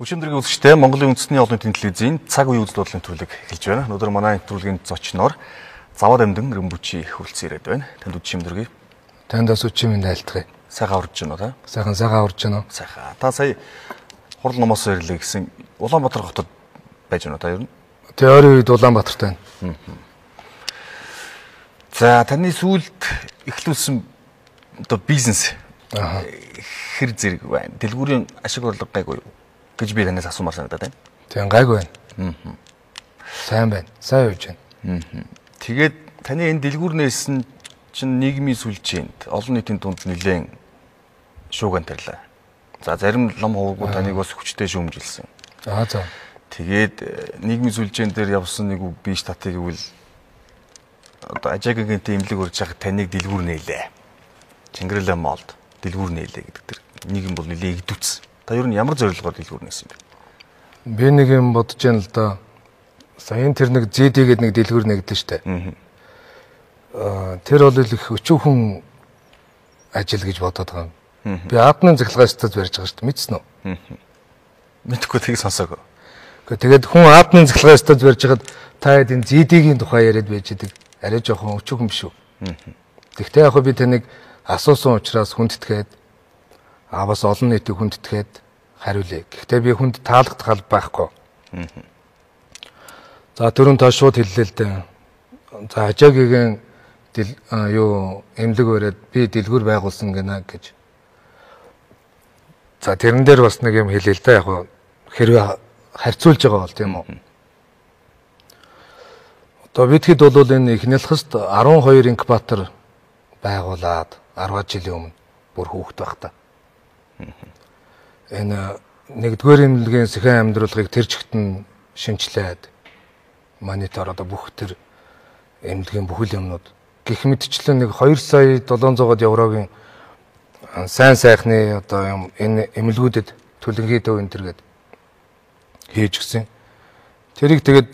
Өчигдрийн үзэгчтэй Монголын үндэсний олон нийтийн телевизийн цаг үеийн үзэл бодлын төлөв эхэлж байна. Өнөөдөр манай нэвтрүүлгийн зочноор Заваад Амьдан Рембүчи хүрэлцэн ирээд байна. Танд үдшим дөргий. Танд бас үдшим айлтгая. Сайхан урж байна уу та? Сайхан урж байна уу? Сайхан. Та сая хурал номоос ирлээ гэсэн Улаанбаатар хотод байж байна уу та ер нь? Теорийн үед Улаанбаатарт байна. За таны сүүлд эхлүүлсэн одоо бизнес хэр зэрэг байна? Дэлгүүрийн ашиг орлого гайгүй юу гэж би танаас асуумаар санагдаад байна. Тийм гайгүй байна. Сайн байна. Сайн явж байна. Тэгээд таны энэ дэлгүүрнээс чинь нийгмийн сүлжээнд олон нийтийн дунд нэлээд шууган тарлаа. За зарим лам хувгууд таныг бас хүчтэй шүүмжилсэн. За. Тэгээд нийгмийн сүлжээн дээр явсан нэг үг би штатыг гэвэл одоо ажаагийнхэнтэй имлэг урьж байгаа таныг дэлгүүр нээлээ. Чингэрэлээ молд дэлгүүр нээлээ гэдэг тэр нийгэм бол нэлээд игдүүцсэн. Та ер нь ямар зорилгоор дэлгүүр нээсэн бэ? Би нэг юм бодож байна л да. Саяын тэр нэг ZD гэдэг нэг дэлгүүр нэгдэн штэ. Тэр бол их өчүүхэн ажил гэж бодоод байгаа юм. Би админ захлагаас таз барьж байгаа штэ. Мэдсэн үү? Мэдхгүй тийг сонсоог. Тэгээд хүн админ захлагаас таз барьж хагаад та хэд энэ ZD-гийн тухай яриад байж идэг. Арай жоохон өчүүхэн биш үү? Тэгтээ яг би таныг асуусан учраас хүндэтгээд бас олон нийтийг хүндэтгээд хариулъя. Гэхдээ би хүнд таалагдах гал байхгүй. За түрүүн та шууд хэллээ л дээ. За ажаагийн эмнэлэг өрөөд би дэлгүүр байгуулсан гэнэ гэж. За тэрэн дээр бас нэг юм хэлээ л дээ. Яг хэрвээ харьцуулж байгаа бол тийм үү. Одоо бидхэд бол энэ Ихнэлхэст 12 инкубатор байгуулад 10 жилийн өмнө бүр хүүхэд байхдаа. Энэ нэгдүгээр эмнэлгийн сэхэн амьдруулгыг тэр чигтэн шинжилээд монитор одоо бүх тэр эмнэлгийн бүхэл юмнууд гэх мэтчлэн нэг 2 сая 700 еврогийн сайн сайхны одоо юм энэ эмнэлгүүдэд төлөнхий төв энэ төргээд хийж гисэн. Тэрийг тэгээд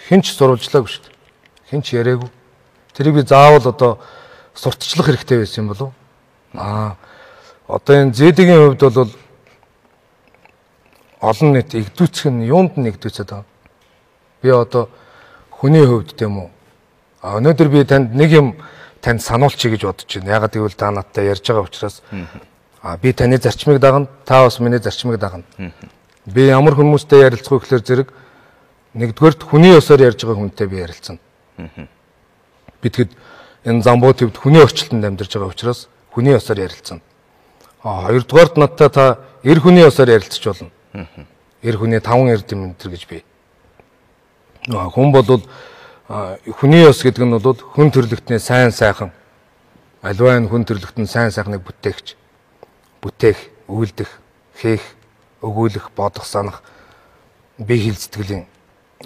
хинч сурвалжлаагүй шүү дээ. Хинч яриаггүй. Тэрийг би заавал одоо сурталчлах хэрэгтэй байсан юм болов уу? Одоо энэ ZD-гийн хувьд бол олон нийт игдүүцэх нь юунд нэгдүүцээд байгаа. Би одоо хүний хувьд тийм үү. Өнөөдөр би танд нэг юм танд сануулчих гэж бодож байна. Ягаад гэвэл та надтай ярьж байгаа учраас би таны зарчмыг дагна, та бас миний зарчмыг дагна. Би ямар хүмүүстэй ярилцах вэ гэхээр зэрэг нэгдүгээрт хүний ёсоор ярьж байгаа хүнтэй би ярилцсан. Битгэд энэ замбуу төвд хүний орчилтонд амьдарч байгаа учраас хүний ёсоор ярилцсан. Хоёрдугаарт надтай та эр хүний ёсоор ярилцж болно. Эр хүний 5 эрдэм энэ гэж би. Хүн бол хүний ёс гэдэг нь бол хүн төрлөختний сайн сайхан аливаа энэ хүн төрлөختний сайн сайхныг бүтээх, үйлдэх, хийх, өгүүлэх, бодох, санах бие хэл сэтгэлийн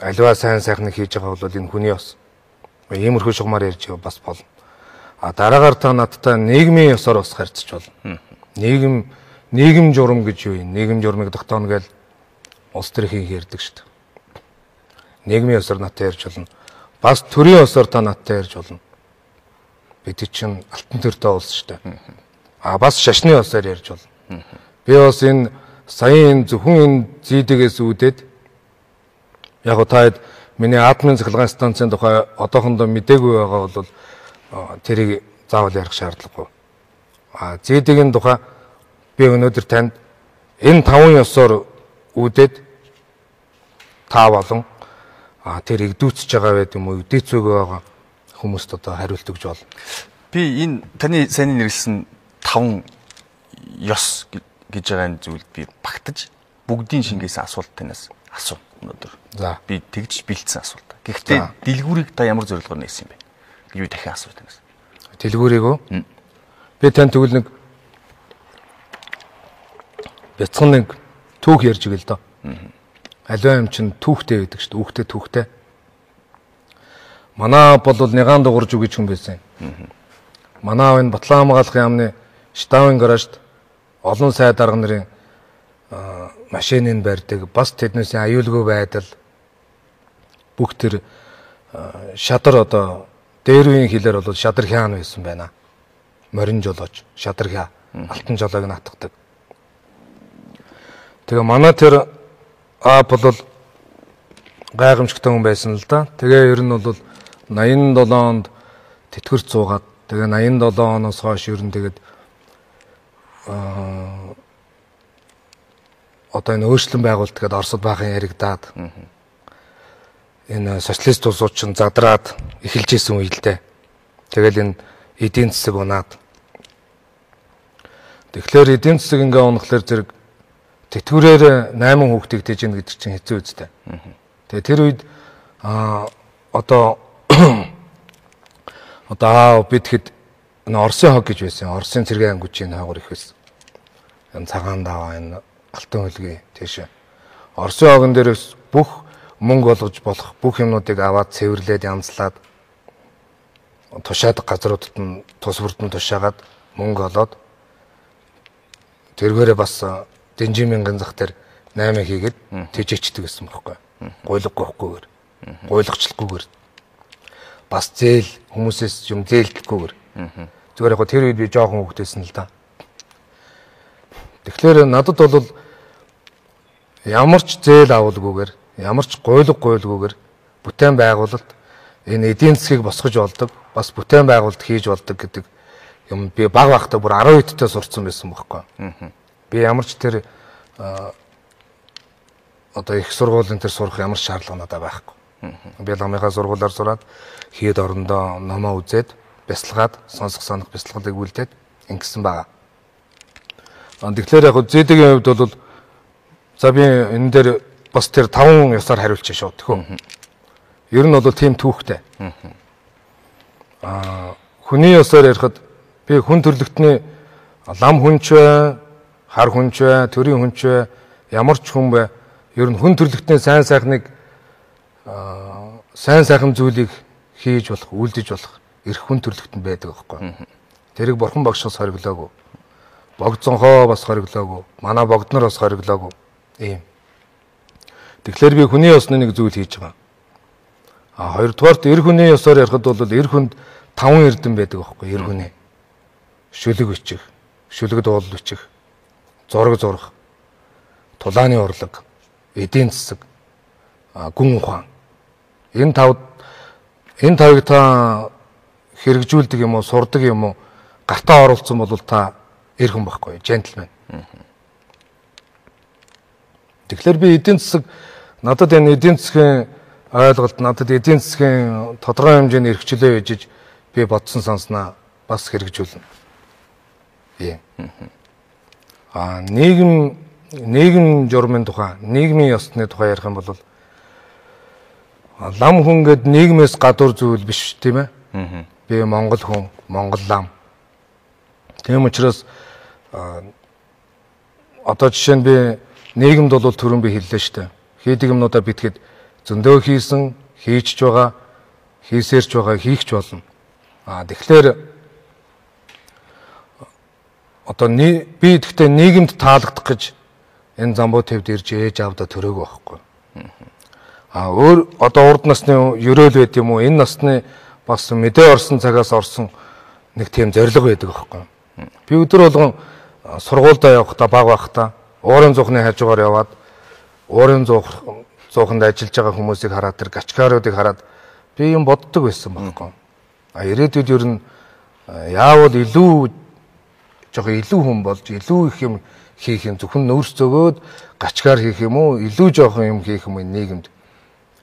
аливаа сайн сайхныг хийж байгаа бол энэ хүний ёс. Иймэрхүү шугамар ярьж бас болно. Дараагаар та надтай нийгмийн ёсоор бас харьцаж болно. Нийгэм журам гэж юу юм? Нийгэм журмыг тогтооно гэж улс төрийн ярьдаг шүү дээ. Нийгмийн ёсоор надтай ярьж болно. Бас төрийн ёсоор та надтай ярьж болно. Бид чинь алтан төртэй улс шүү дээ. Бас шашны ёсоор ярьж болно. Би бас энэ саяын зөвхөн энэ ZD-гээс үүдээд яг та хэд миний админ цахилгаан станцын тухай одоохондоо мдээгүй байгаа бол тэрийг заавал ярих шаардлагагүй. ZD-гийн тухай би өнөөдөр танд энэ 5 ёсоор үүдээд та болон тэр игдүүцэж байгаа байд юм уу, игдээцүүгээ байгаа хүмүүст одоо хариулт өгж болно. Би энэ таны сайн нэрлсэн 5 ёс гэж байгаа энэ зүйлд би багтаж бүгдийн шингээс асуулт танаас асуу өнөөдөр. За. Би тэгж бэлдсэн асуулт. Гэхдээ дэлгүүрийг та ямар зорилгоор нээсэн бэ? гэж би дахин асуу танаас. Дэлгүүрийг үү? Би тань тэгвэл нэг бяцхан нэг түүх ярьж игээл доо. Аливаа юм чинь түүхтэй байдаг шүү дээ. Үүхтэй түүхтэй. Манай бол Нягаан дуурж үгэж хүн байсан. Манай энэ Батлан хамгаалахын яамны штабын гаражд олон сайд арга нарын машиныг барьдаг. Бас тэднээс аюулгүй байдал бүх тэр шадар одоо дээр үеийн хэлээр бол шадар хяан байсан байна. Морин жолооч, шадар хяа, алтан жолоог натгадаг. Тэгээ манай тэр аав бол гайхамшигтай хүн байсан л да. Тэгээ ер нь бол 87 онд тэтгэрт суугаад тэгээ 87 оноос хойш ер нь тэгээд одоо энэ өөрчлөн байгуулалт гэдэг Оросд баахан яригадаад энэ социалист улсууд ч задраад эхэлж исэн үе л дээ. Тэгэл энэ эдийн засаг унаад. Тэгэхээр эдийн засаг ингээ унахлаар зэрэг тэтгэврээр 8 хүүхдийг тэжин гэдэг чинь хэцүү үстэй. Тэгээ тэр үед одоо бид хэд Оросын хог гэж байсан. Оросын цэргийн ангижийн хаагур их байсан. Энэ цагаан даваа энэ алтан хөлгийн тийш. Оросын хогон дээрээс бүх мөнгө олгож болох бүх юмнуудыг аваад цэвэрлээд янзлаад тушаад газруудад нь тус бүрдэн тушаагаад мөнгө олоод тэргээрээ бас Дэнжимингийн зах дээр 8 хийгээд тэжээчдэг гэсэн байхгүй. Гуйлгахгүйгээр. Гуйлгахчлахгүйгээр. Бас зээл хүмүүсээс юм зээлдэхгүйгээр. Зүгээр яг тэр үед би жоохон хөвгтэйсэн л да. Тэгэхээр надад бол ямар ч зээл авалгүйгээр, ямар ч гуйлгахгүйгээр бүтээн байгуулалт энэ эдийн засгийг босгож болдог, бас бүтээн байгуулалт хийж болдог гэдэг юм би баг багтаа бүр 12 дэх сурцсан байсан байхгүй. Би ямар ч тэр одоо их сургуулийн тэр сурах ямар шаардлага надад байхгүй. Би ламынхаа сургуулиар сураад хэд орондоо номоо үзээд бясалгаад сонсох санах бясалгалыг үлдээд ингэсэн байгаа. Тэгэхээр яг зээдэгийн хувьд бол за би энэ дээр бас тэр 5 ёсоор хариулчих шууд төхөө. Ер нь бол тийм түүхтэй. Хүний ёсоор ярихад би хүн төрлөختний лам хүнч бай, хар хүнч бай, төрийн хүнч бай, ямар ч хүн бай. Ер нь хүн төрлөختний сайн сайхан зүйлийг хийж болох, үлдэж болох эрх хүн төрлөختөнд байдаг байхгүй. Тэрийг бурхан багшаас хориглоогүй. Богдсонхоо бас хориглоогүй. Манай богднор бас хориглоогүй. Ийм. Тэгэхээр би хүний ёсны нэг зүйл хийж байгаа. Хоёрдугаарт эрх хүний ёсоор ярихад бол эрх хүнд 5 эрдэм байдаг байхгүй эрх хүний. Шүлэг бичих, шүлэгд уул бичих, зураг зурах, тулааны урлаг, эдийн засаг, гүн ухаан. Энэ тавыг та хэрэгжүүлдэг юм уу, сурдаг юм уу, гартаа оруулсан бол та эр хүн байхгүй, джентльмен. Тэгэхээр би эдийн засаг надад энэ эдийн засгийн ойлголт, надад эдийн засгийн тодорхой хэмжээний эрхчлөө ээжиж би бодсон санснаа бас хэрэгжүүлнэ. Нийгэм журмын тухай, нийгмийн ёсны тухай ярих юм бол лам хүн гэд нийгмээс гадуур зүйл биш тийм ээ. Би Монгол хүн, Монгол лам. Тийм учраас одоо жишээ нь би нийгэмд бол түрүүн би хэллээ шүү дээ. Хийдэг юмнуудаа битгэд зөндөө хийсэн, хийчихж байгаа, хийсээрч байгаа, хийхч болно. Тэгэхээр одоо би гэхдээ нийгэмд таалагдах гэж энэ замбуу төвд ирж ээж аавда төрөөг байхгүй. Өөр одоо урд насны ерөөл байд юм уу? Энэ насны бас мэдээ орсон цагаас орсон нэг тийм зориг байдаг байхгүй. Би өдөр болгон сургуультай явахдаа баг байхдаа уурын зуухны хажуугаар яваад уурын зууханд ажиллаж байгаа хүмүүсийг хараад тэр гачкааруудыг хараад би юм боддог байсан байхгүй. Ирээдүйд ер нь яавал илүү хүн болж илүү их юм хийх юм зөвхөн нөөц зөгөөд гачкаар хийх юм уу илүү жоохон юм хийх юм нийгэмд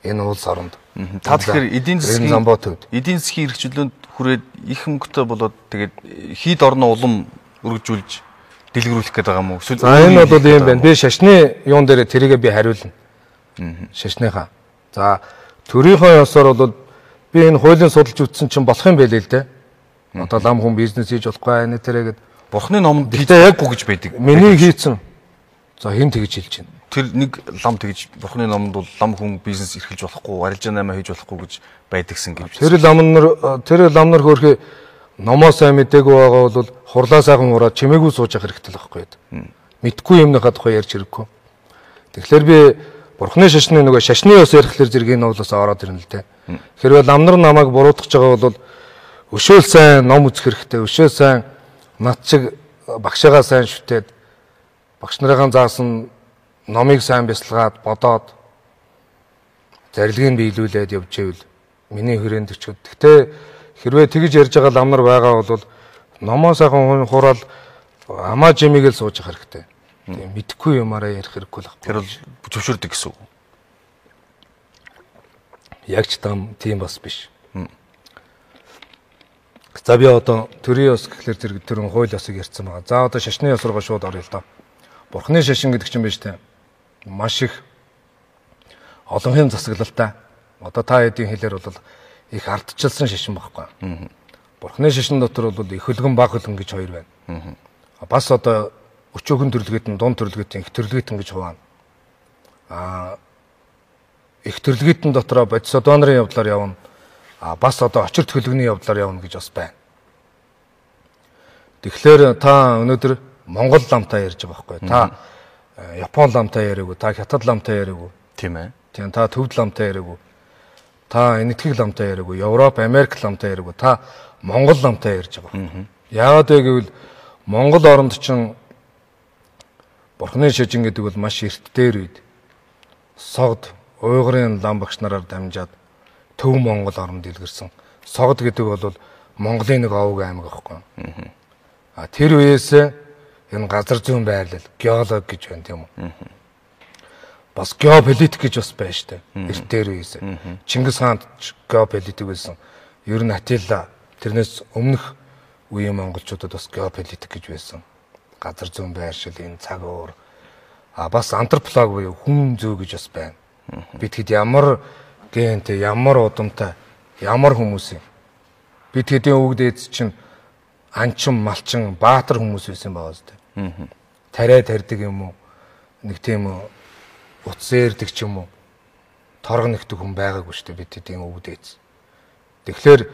энэ улс оронд. Та тэгэхээр эдийн засгийн эрхчлөөнд хүрээд их мөнгөтэй болоод тэгээд хід орны улам өргөжүүлж дэлгэрүүлэх гээд байгаа юм уу? Энэ бол юм байна. Би шашны юун дээр тэрийгээ би хариулна. Шашныхаа. За төрийнхөө ёсоор бол би энэ хуулийн судалж үтсэн чинь болох юм байлээ л дээ. Одоо лам хүн бизнес хийж болохгүй энэ тэрэгэд бурхны номонд хийдэггүй гэж байдаг. Миний хийцэн. За хэн тэгж хэлж байна? Тэр нэг лам тэгж бурхны номонд бол лам хүн бизнес эрхэлж болохгүй, арилжаа наймаа хийж болохгүй гэж байдагсан гэж. Тэр лам нар хөөрхий номоо сайн мдээгүй байгаа бол хурлаа сайхан ураад чимээгүй сууж явах хэрэгтэй л байхгүй. Мэдгүй юмныхаа тухай ярьж хэрэггүй. Тэгэхээр би бурхны шашны нөгөө шашны ёс ярихлаар зэрэг энэ уулаас ороод ирнэ л дээ. Хэрвээ лам нар намайг буруутгах байгаа бол өшөөл сайн ном үзэх хэрэгтэй, өшөөл сайн над чиг багшаагаа сайн шүтээд багш нарын заасан номыг сайн бясалгаад бодоод зарилгыг биелүүлээд явж ивэл миний хүрээнд ч. Гэхдээ хэрвээ тэгж ярьж байгаа лам нар байгаа бол номоо сайхан хураал амаа жимигээл сууж явах хэрэгтэй. Тийм мэдхгүй юмараа ярих хэрэггүй л байна. Тэр бол зөвшөөрдөг гэсэн үг. Яг ч тийм бас биш. За би одоо төрийн ёс гэхлээр зэрэг төрийн хууль ёсыг ярьсан байгаа. За одоо шашны ёс руугаа шууд оръё л доо. Бурхны шашин гэдэг чинь биш үү? Маш их олонхын засаглалтай. Одоо та хэдийн хэлээр бол их ардчилсан шашин багхгүй. Бурхны шашин дотор бол их хөлгөн баг хөлгөн гэж хоёр байна. Бас одоо өчөөгөн төрлөгэт нь дунд төрлөгэт их төрлөгэт гэж хуваана. Их төрлөгэт нь дотроо бодис донорын явдлаар явна. Бас одоо очирт хөлгөний явдлаар явна гэж бас байна. Тэгэхээр та өнөөдөр Монгол ламтай ярьж байгаа байхгүй. Та Япон ламтай яриаггүй, та Хятад ламтай яриаггүй. Тийм ээ. Тийм та Төвд ламтай яриаггүй. Та Энэтхэг ламтай яриаггүй, Европ, Америк ламтай яриаггүй. Та Монгол ламтай ярьж байгаа. Яагаад вэ гэвэл Монгол оронд чинь Бурхны шашин гэдэг бол маш эрт дээр үед Согд, Уйгурын лам багш нараар дамжаад Төв Монгол оронд дэлгэрсэн. Согд гэдэг бол Монголын нэг овог аймаг байхгүй. Тэр үеэс энэ газар зүйн байрлал, геолог гэж байна тийм үү? Бас геополитик гэж бас байна штэ. Эрт дээр үеэс. Чингис хаан геополитик байсан. Ер нь Атилла тэрнээс өмнөх үеийн монголчуудад бас геополитик гэж байсан. Газар зүйн байршил, энэ цаг уур. Бас антрополог буюу хүн зүй гэж бас байна. Бид хэд ямар гэнтэй, ямар удамтай, ямар хүмүүс юм. Бид хэдийн өвөг дээдс чинь анчин, малчин, баатар хүмүүс байсан байгаа зү. Тариа тарьдаг юм уу? Нэг тийм утас eerдэг ч юм уу? Торго нэгдэг хүн байгаагүй шүү дээ бид хэдийн өвөг дээдс. Тэгэхээр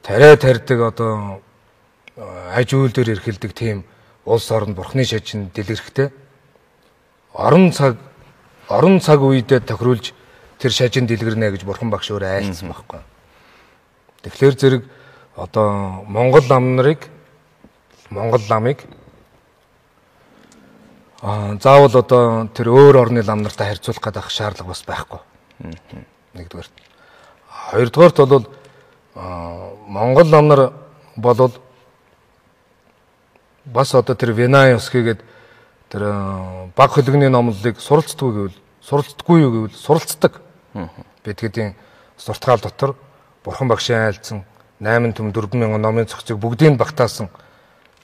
тариа тарьдаг одоо аж үйл дээр эрхэлдэг тийм улс орнд Бурхны шашин дэлгэрхтэй. Орон цаг үедээ тохируулж тэр шажин дэлгэрнэ гэж Бурхан багш өөрөө айлцсан байхгүй. Тэгэхээр зэрэг одоо Монгол ламыг заавал одоо тэр өөр орны лам нартай харьцуулах гэдэг шаардлага бас байхгүй. Нэгдүгээр. Хоёрдугаарт бол Монгол лам нар бол бас одоо тэр Винайос гэгээд тэр баг хөлгөний номлолыг суралцдаг. Бид хэдийн суртгаал дотор Бурхан багшийн айлцсан 8 төм 4,000 номын цогцыг бүгдийг багтаасан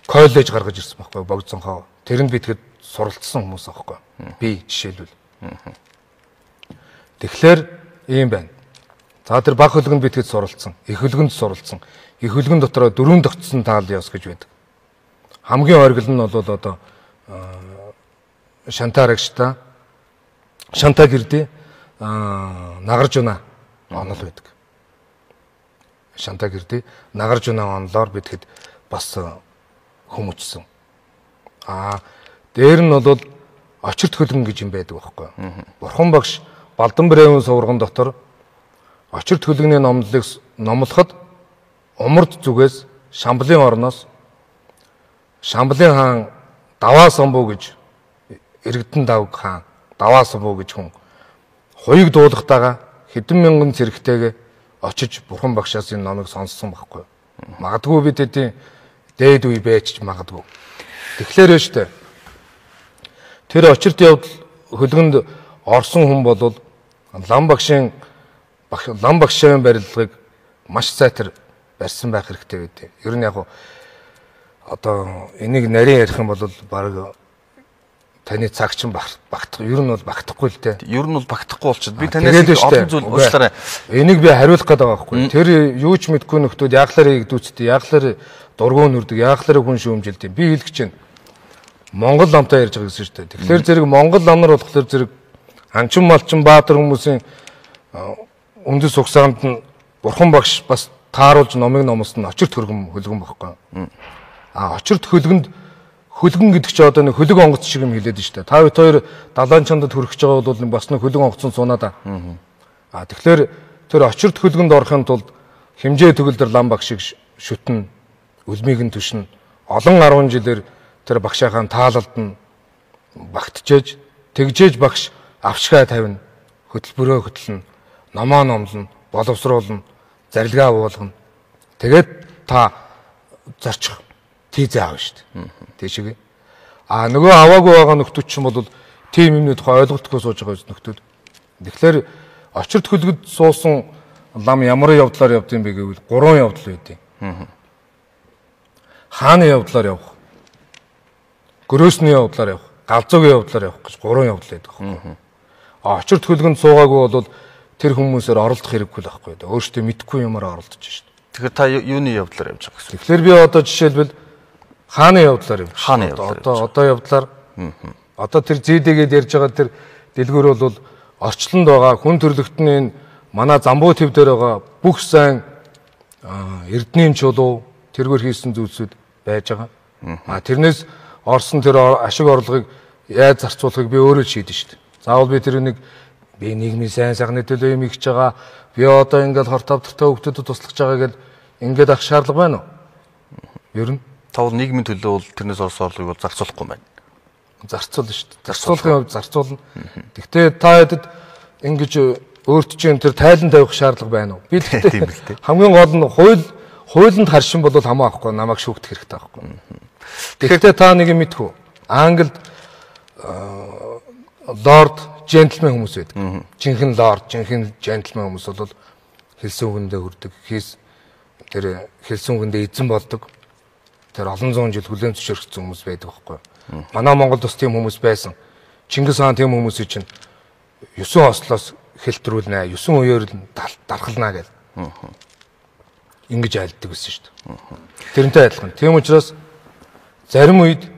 коллеж гаргаж ирсэн байхгүй богдсонхоо. Тэрэнд бид хэд суралцсан хүмүүс аахгүй. Би жишээлбэл. Тэгэхээр ийм байна. За тэр баг хөлгөнд бид хэд суралцсан, их хөлгөнд суралцсан. Их хөлгөн дотроо 4 тогтсон таал ёс гэж байдаг. Хамгийн оргил нь бол одоо Шантарагшта, Шантагирди, Нагаржуна онол байдаг. Шантагирди, Нагаржуна онолоор бид хэд бас хүмүүжсэн. Дээр нь бол очирт хөлгөн гэж юм байдаг байхгүй. Бурхан багш Балдан Брэвэн сувраган дотор очирт хөлгөний номлолыг номлоход умард зүгээс Шамблын орноос Шамблын хаан Даваа Самбуу гэж Иргэдэн Давг хаан Даваа Самбуу гэж хүн хуйг дуулахтайгаа хэдэн мянган цэрэгтэйгээ очиж Бурхан багшаас энэ номыг сонссон байхгүй. Магадгүй бид хэдийн дээд үе байж магадгүй. Тэгэхээр нь штэ. Тэр очирт явдал хөлгөнд орсон хүн бол лам багшийн барилгыг маш сайтар барьсан байх хэрэгтэй гэдэг. Ер нь яг одоо энийг нарийн ярих юм бол баг таны цаг чинь багтах. Ер нь бол багтахгүй л дээ. Ер нь бол багтахгүй болчиход би танаас олон зүйл уучлаарай. Энийг би хариулах гээд байгаа байхгүй. Тэр юу ч мэдгүй нөхдүүд яаглаараа игдүүцтэй, яаглаараа дургуун нүрдэг, яаглаараа хүн шүүмжилдэг. Би хэлэх чинь Монгол ламтай ярьж байгаа гэсэн шүү дээ. Тэгэхээр зэрэг Монгол лам нар болохоор зэрэг анчин малчин баатар хүмүүсийн үндэс угсаанд нь Бурхан багш бас тааруулж номыг номлосон очирт хөлгөн багхгүй. Очирт хөлгөн гэдэг чинь одоо нэг хөлөг онгоц шиг юм хэлээд шүү дээ. Та бид хоёр далайн чандад хүрэх гэж байгаа бол бас нэг хөлөг онгоцон сунаа да. Тэгэхээр тэр очирт хөлгөнд орохын тулд хэмжээ төгөлдөр лам багш шиг шүтэн, үлмийг нь түшин олон 10 жилээр тэр багшаахан таалалд нь багтжээж тэгжээж багш авчгаа тавина, хөтөлбөрөө хөтлөнө, номоо номлоно, боловсруулна, зарилгаа уулгана. Тэгээд та зарчих тийзээ аав шүү дээ. Тийшээ. Нөгөө аваагүй байгаа нөхдүүд ч юм бол тийм юмны тухай ойлголтгүй сууж байгаа нөхдүүд. Тэгэхээр очирд хөлгөд суусан лам ямар явдлаар явд юм бэ гэвэл 3 явдал үүдээ. Хааны явдлаар явах, гөрөөсний явдлаар явах, галзуугийн явдлаар явах гэж 3 явдал байдаг байхгүй. Очирд хөлгөнд суугаагүй бол тэр хүмүүсээр оролдох хэрэггүй л байхгүй. Өөртөө мэдхгүй юмараа оролдож шүү дээ. Тэгэхээр та юуны явдлаар явж байгаа гэсэн. Тэгэхээр би одоо жишээлбэл хааны явдлаар явж. Хааны явдлаар. Одоо явдлаар. Одоо тэр зээдэгээд ярьж байгаа тэр дэлгүүр бол орчлонд байгаа хүн төрлөختний манай замбуу төв дээр байгаа бүх сайн эрдэнийн чулуу тэргээр хийсэн зүйлсүүд байж байгаа. Тэрнээс орсон тэр ашиг орлогыг яаж зарцуулахыг би өөрөө шийдэн шүү дээ. Заавал би тэр би нийгмийн сайн сайхны төлөө юм хийж байгаа. Би одоо ингээд хор тавтартай хүмүүсд туслах байгаа гэж ингээд ах шаардлага байна уу? Ер нь тавал нийгмийн төлөө бол тэрнээс орсон орлогыг бол зарцуулахгүй байна. Зарцуулна шүү дээ. Зарцуулахын хувьд зарцуулна. Гэхдээ та хэдэд ингэж өөрт чинь тэр тайлан тавих шаардлага байна уу? Би тэгтээ хамгийн гол нь хуулинд харшин бол хамаахгүй намайг шүүхтэх хэрэгтэй байхгүй. Тэгэхдээ та нэг юм мэдхүү. Англид лорд джентльмен хүмүүс байдаг. Жинхэнэ лорд, жинхэнэ джентльмен хүмүүс бол хэлсэн үгэндээ хүрдэг. Тэр хэлсэн үгэндээ эзэн болдог. Тэр олон зуун жил хүлээн зөвшөөрсөн хүмүүс байдаг байхгүй. Манай Монголд бас тийм хүмүүс байсан. Чингис хаан тийм хүмүүсийг чинь 9 ослоос хэлтрүүлнэ, 9 үеэр дархалнаа гэж. Ингэж айлддаг байсан шүү дээ. Тэрнтэй адилхан. Тийм учраас зарим үед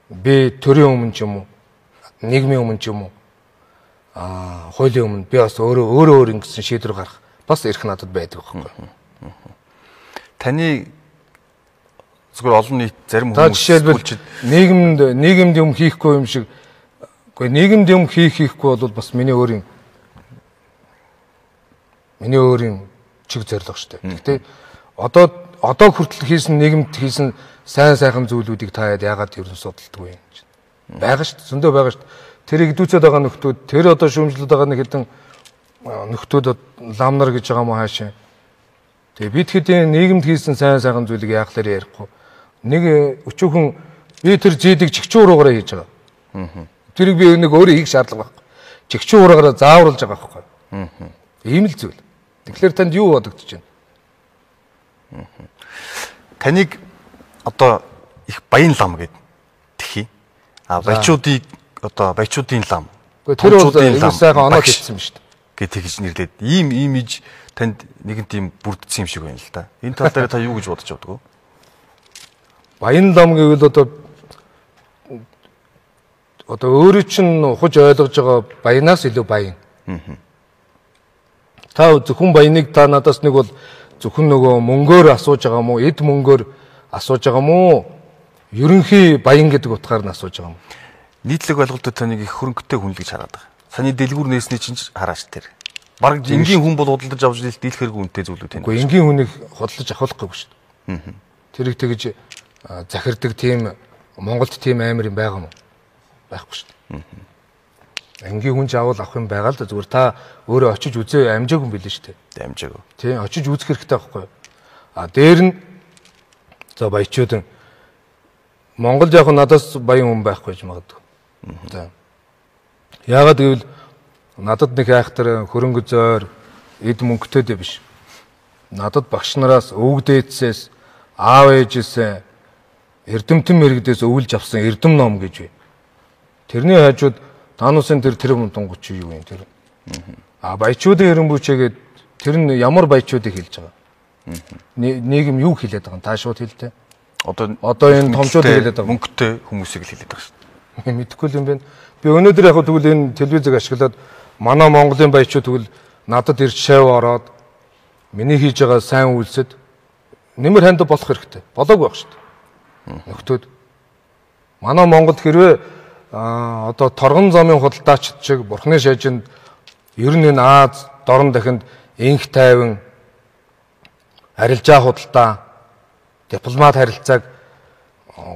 би төрийн өмнө ч юм уу, нийгмийн өмнө ч юм уу, хуулийн өмнө би бас өөрөө ингэсэн шийдвэр гарах бас эрх надад байдаг байхгүй. Таны зүгээр олон нийт зарим хүмүүс жишээлбэл нийгэмд юм хийхгүй юм шиг үгүй нийгэмд юм хийхгүй бол бас миний өөрийн чиг зорилго шүү дээ. Гэхдээ одоо хүртэл хийсэн нийгэмд хийсэн сайн сайхан зүйлүүдийг та яагаад ер нь судалдаг вэ? Бага шүү дээ. Зөндөө байгаа шүү дээ. Тэрийг дүүцээд байгаа нөхдүүд тэр одоо шүүмжлээд байгаа нэг хэдэн нөхдүүд ламнар гэж байгаа мó хаашаа. Тэгээ бид хэдийн нийгэмд хийсэн сайн сайхан зүйлийг яахлаар ярихгүй. Нэг өчүүхэн би тэр зээдэг чигчүүр руугаараа хийж байгаа. Тэрийг би нэг өөрөө хийх шаардлага байхгүй. Чигчүүр руугаараа заавруулж байгаа байхгүй. Ийм л зүйл. Тэгэхээр танд юу бодогдож байна? Таныг одоо их баян лам гэд тэхий. Баячуудыг одоо баячуудын лам. Тэр бол сайхан оноо хийсэн юм шүү дээ. Гэт тэгж нэрлээд ийм имиж танд нэгэн тийм бүрдсэн юм шиг байна л да. Энэ тал дээр та юу гэж бодож байгаа вэ? Баян лам гэвэл одоо өөрөө чинь ухаж ойлгож байгаа баянаас илүү баян. Та зөвхөн баяныг та надаас нэг бол зөвхөн нөгөө мөнгөөр асууж байгаа мó, эд мөнгөөр асууж байгаа мó, ерөнхий баян гэдэг утгаар нь асууж байгаа мó. Нийтлэг ойлголтод таныг их хөрөнгөтэй хүн л гэж хараад байгаа. Саний дэлгүүр нээсний чинь хараач тэр. Бараг энгийн хүн бол худалдаж авч дийлэх хэрэг үнэтэй зүйлүүд байна. Үгүй энгийн хүнийг худалдаж авахлахгүй шүү дээ. Тэрийг тэгж захирдаг тийм Монголд тийм амар юм байгаа мó? Байхгүй шүү дээ. Энгийн хүн жаавал авах юм байгаа л да. Зүгээр та өөрөө очиж үзээ амжаагүй юм билээ шүү дээ. Амжаагүй. Тийм очиж үзэх хэрэгтэй байхгүй юу? Дээр нь за баячууд Монголд яг надаас баян хүн байхгүй гэж магадгүй. За. Яагаад гэвэл надад нэг айхтар хөрөнгө зойр эд мөнгөтэй биш. Надад багш нараас өвөг дээдсээс аав ээжээс эрдэмтэн мэрэгдээс өвлж авсан эрдэм ном гэж бай. Тэрний хажууд таануусын тэр мунтангуч юу юм тэр. Баячуудын эренбүүчээгээд тэр нь ямар баячуудыг хэлж байгаа. Нийгэм юу хэлээд байгаа юм та шууд хэлтэй. Одоо энэ томчууд хэлээд байгаа. Мөнгөтэй хүмүүсийг л хэлээд байгаа шүү дээ. Мэдхгүй юм байна. Би өнөөдөр яг тэгвэл энэ телевизийг ашиглаад манай Монголын баячууд тэгвэл надад ирж шав ороод миний хийж байгаа сайн үйлсэд нэмэр ханд болох хэрэгтэй. Болоогүй байх шүү дээ. Нөхдөөд манай Монголд хэрвээ одоо торгон замын худалдаач шиг бурхны шажинд ер нь энэ Аз дорн дахинд инх тайван арилжаа худалдаа дипломат харилцааг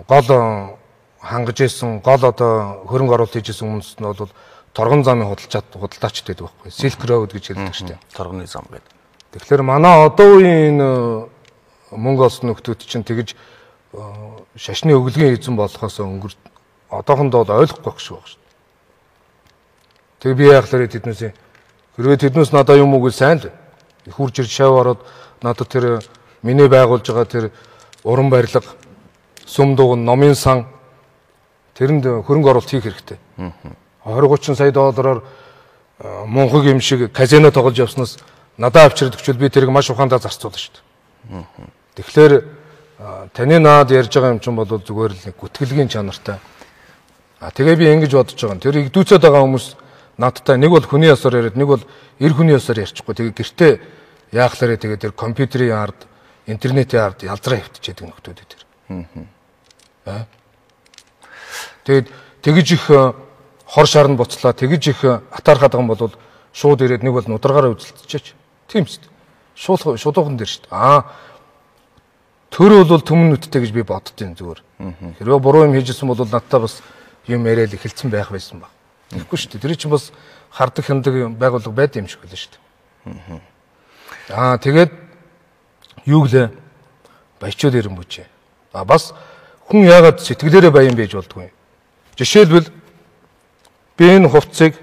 гол хангаж исэн гол одоо хөрөнгө оруулалт хийж исэн хүмүүс нь бол торгон замын худалдаачд байдаг байхгүй. Silk Road гэж ярьдаг шүү дээ. Торгоны зам гэдэг. Тэгэхээр манай одоо үеийн мөнгө олсон нөхдүүд чинь тэгж шашны өглөгийн эзэн болохоос өнгөр одоохондоо ойлгохгүй байх шүү байна. Тэгээ би яахлаар тэднээс хэрвээ тэднээс надаа юм уу гэж сайн л их хурж ирж шав ороод надад тэр миний байгуулж байгаа тэр уран барилга сүм дугуй номын сан тэрэнд хөрөнгө оруулалт хийх хэрэгтэй. 20-30 сая доллараар мунхаг юм шиг казино тоглож явснаас надад авчирдаг ч би тэрийг маш ухаандаа зарцуулна шүү дээ. Тэгэхээр таны наад ярьж байгаа юм чинь бол зүгээр л нэг гүтгэлгийн чанартай. Тэгээ би ингэж бодож байгаа. Тэр игдүүцээд байгаа хүмүүс надтай нэг бол хүний ёсоор яриад нэг бол эр хүний ёсоор ярьчихгүй. Тэгээ гэртээ яахлаарэ тэгээ тэр компьютерийн ард, интернетийн ард ялзраа хөвтчихэд нөхдүүд тэр. Тэгээд тэгж их хор шарнд буцлаа, тэгж их атаархаад байгаа юм бол шууд ирээд нэг бол нударгаараа үзэлцчихэж. Тийм шүү дээ. Шуудуухан дээр шүү дээ. Төр бол төмөн нүдтэй гэж би боддtiin зүгээр. Хэрвээ буруу юм хийжсэн бол надтай бас юм яриад эхэлсэн байх байсан баг. Тэгэхгүй шүү дээ. Тэр чинь бас хардаг хяндаг байгууллага байд юм шиг байлаа шүү дээ. Тэгээд юу гэлээ баячууд ирэн бүжээ. Бас хүн яагаад сэтгэлээрээ баян байж болдгүй. Жишээлбэл би энэ хувцсыг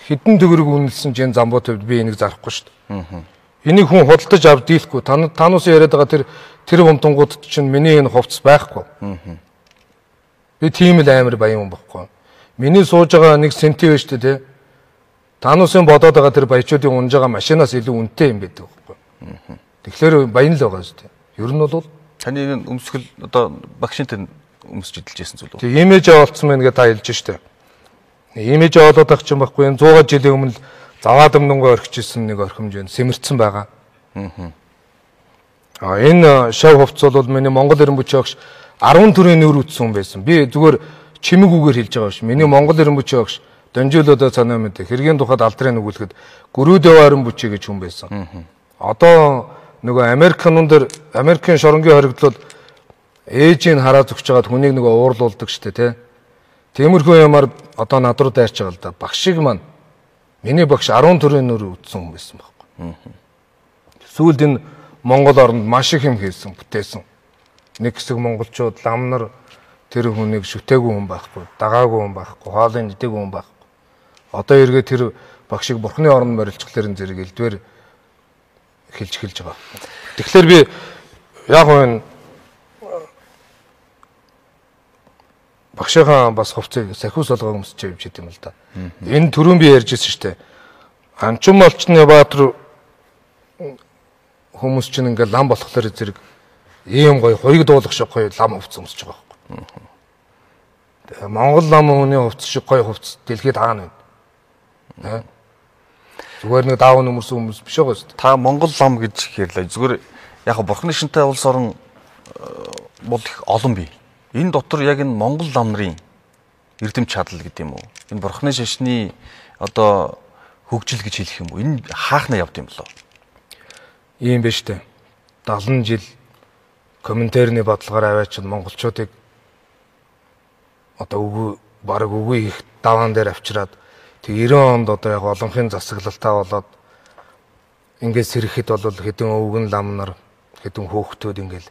хэдэн төгрөг үнэлсэн чинь замбуу төвд би энийг зарахгүй шүү дээ. Энийг хүн худалдаж авд дийлэхгүй. Танаас яриад байгаа тэр умтангууд чинь миний энэ хувцс байхгүй. Би тийм л амар баян хүн байхгүй. Миний сууж байгаа 1 сенти вэ шүү дээ, тэ. Тануусын бодоод байгаа тэр баячуудын унж байгаа машинаас илүү үнэтэй юм байдаг байхгүй. Тэгэхээр баян л байгаа шүү дээ. Ер нь бол таны энэ өмсгөл одоо багшинтай өмсөж идэлж байсан зүйл үү? Тэг имиж олцсон байна гэж та хэлж штэ. Имиж олоод байх чинь байхгүй. 100 жилийн өмнө заваад өмнөнгөө орхижсэн нэг орхимж байна. Сэмэрцэн байгаа. Энэ шав хувцс бол миний Монгол эрен бүчийн огш 10 төрлийн нөр үтсэн хүн байсан. Би зүгээр чимэг үгээр хэлж байгаа ш. Миний Монгол эрен бүчийн огш Донжуулуудаа санаа мэд. Хэргийн тухайд алдрын өгүүлэхэд Гүрүүдэв арен бүчий гэж хүн байсан. Одоо нөгөө Америкийн шоронгийн хоригдлол ээжийг хараад өгч жагаад хүнийг нөгөө уурлуулдаг штэ тий. Тиймэрхүү юмар одоо над руу дайрч байгаа л да. Багшиг маань миний багш 10 төрлийн нөр үтсэн хүн байсан байхгүй. Сүүлд энэ Монгол оронд маш их юм хийсэн, бүтээсэн. Нэг хэсэг монголчууд лам нар тэр хүнийг шүтээгүй хүн байхгүй, дагаагүй хүн байхгүй, хоолыг идээгүй хүн байхгүй. Одоо эргээ тэр багшиг бурхны орнд морилчгларын зэрэг элдвэр эхэлж байгаа. Тэгэхээр би яг энэ багшийнхаа бас хувцсыг сахиус олгоо өмсөж явж идэм л да. Энэ түрүүн би ярьжсэн шүү дээ. Анчим олчны баатар хүмүүс чинь ингээл лам болохоор зэрэг ийм гоё хоёрыг дуулах шиг гоё лам хувцс өмсөж байгаа байхгүй. Тэгээ Монгол лам хүний хувцс шиг гоё хувцс дэлхийд хаана вэ? Зүгээр нэг даавн өмөрсөн хүмүүс биш байгаа шүү дээ. Та Монгол лам гэж ярьлаа. Зүгээр яг бурхны шинтэй улс орон бол их олон бий. Энэ дотор яг энэ Монгол лам нарын эрдэм чадал гэдэг юм уу? Энэ бурхны шашны одоо хөгжил гэж хэлэх юм уу? Энэ хаахна явд юм болоо. Ийм биш үү? 70 жил комментарийн бодлогоор аваач монголчуудыг одоо бараг үгүй их даваан дээр авчираад тэг 90 онд одоо яг олонхын засаглалтаа болоод ингээд сэрэхэд бол хэдэн өвгөн лам нар хэдэн хөөхтүүд ингээл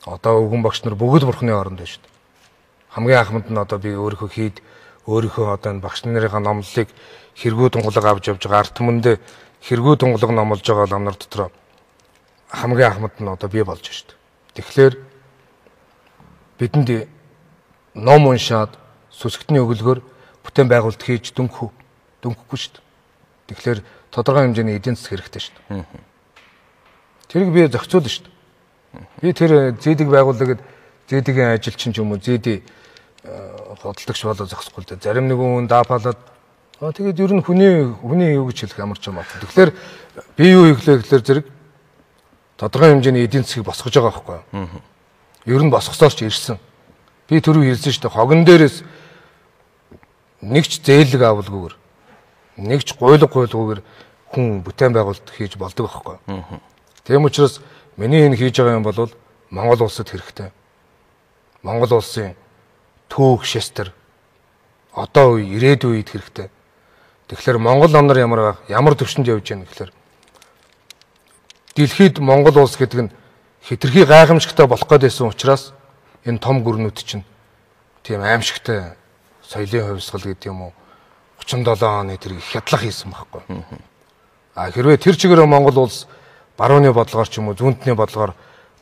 одоо өвгөн багш нар бүгд бурхны оронд байна шүү дээ. Хамгийн анхмад нь одоо би өөрийнхөө одоо энэ багш нарын номлолыг хэрэггүй тунгалаг авч явж байгаа арт түмэндээ хэрэггүй тунгалаг номлож байгаа лам нар дотор хамгийн анхмад нь одоо би болж шүү дээ. Тэгэхээр бидэнд ном уншаад сүсгтний өгөлгөөр бүтээн байгуулалт хийж дөнгөхгүй шүү дээ. Тэгэхээр тодорхой хэмжээний эдийн засаг хэрэгтэй шүү дээ. Тэрийг би зохицуулна шүү дээ. Би тэр зээдэг байгууллагад зээдгийн ажилчин ч юм уу зээдий худалдагч болоо зохисгүй л дээ. Зарим нэгэн хүн даапалаад тэгээд ер нь хүний юу гэж хэлэх ямар ч юм аа. Тэгэхээр би юу хийхлээ гэхээр зэрэг тодорхой хэмжээний эдийн засгийг босгож байгаа байхгүй юу? Ер нь босгосоор ч ирсэн. Би түрүү хэлсэн шүү дээ. Хогон дээрээс нэг ч зээлэг авалгүйгээр нэг ч гуйлгүйгээр хүн бүтээн байгуулалт хийж болдог байхгүй юу? Тийм учраас миний энэ хийж байгаа юм бол Монгол улсад хэрэгтэй. Монгол улсын түүх шестер одоо үе ирээдүйн үед хэрэгтэй. Тэгэхээр Монгол ном нар ямар төвшөнд явж байна гэхээр дэлхийд Монгол улс гэдэг нь хитрхи гайхамшигтай болох гэдсэн учраас энэ том гүрнүүд чинь тийм аимшигтай соёлын хувьсгал гэдэг юм уу 37 оны тэр их хядлах хийсэн байхгүй. А хэрвээ тэр чигээр Монгол улс барууны бодлогоор ч юм уу зүүнтний бодлогоор